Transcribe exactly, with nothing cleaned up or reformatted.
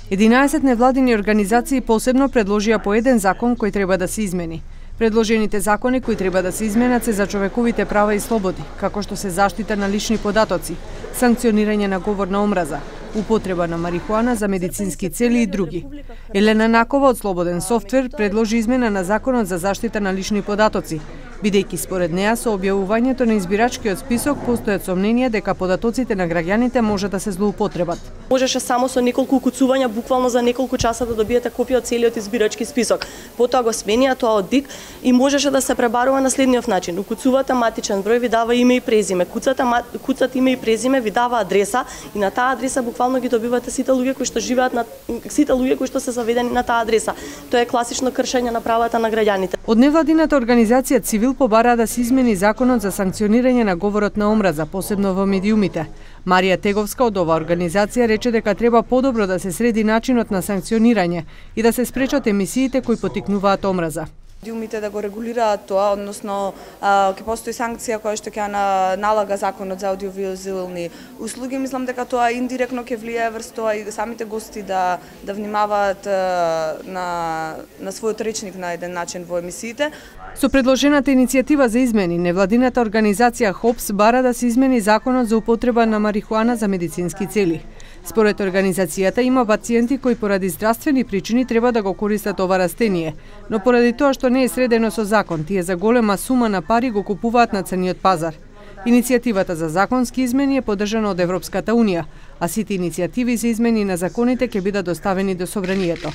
единаесет невладини организации посебно предложија по еден закон кој треба да се измени. Предложените закони кои треба да се изменат се за човековите права и слободи, како што се заштита на лични податоци, санкционирање на говор на омраза, употреба на марихуана за медицински цели и други. Елена Накова од Слободен софтвер предложи измена на Законот за заштита на лични податоци, бидејќи според неа со објавувањето на избирачкиот список постојат сомненија дека податоците на граѓаните може да се злоупотребат. Можеше само со неколку укуцувања, буквално за неколку часа да добиете копија од целиот избирачки список. Потоа го сменија тоа од ДИК и можеше да се пребарува на следниот начин. Укуцувате матичен број, ви дава име и презиме, куцате куцат име и презиме, ви дава адреса и на таа адреса буквално ги добивате сите луѓе кои што живеат на сите луѓе кои што се заведени на таа адреса. Тоа е класично кршење на правата на граѓаните. Од невладината организација Цивил побара да се измени законот за санкционирање на говорот на омраза, посебно во медиумите. Марија Теговска од оваа организација рече дека треба подобро да се среди начинот на санкционирање и да се спречат емисиите кои поттикнуваат омраза. Медиумите да го регулираат тоа, односно ќе постои санкција која што ќе налага законот за аудиовизуелни услуги. Мислам дека тоа индиректно ќе влијае врз тоа и самите гости да да внимаваат на на својот речник на еден начин во емисиите. Со предложената иницијатива за измени, невладината организација ХОПС бара да се измени законот за употреба на марихуана за медицински цели. Според организацијата има пациенти кои поради здравствени причини треба да го користат ова растение, но поради тоа што не е средено со закон, тие за голема сума на пари го купуваат на црниот пазар. Иницијативата за законски измени е поддржана од Европската унија, а сите иницијативи за измени на законите ќе бидат доставени до Собранието.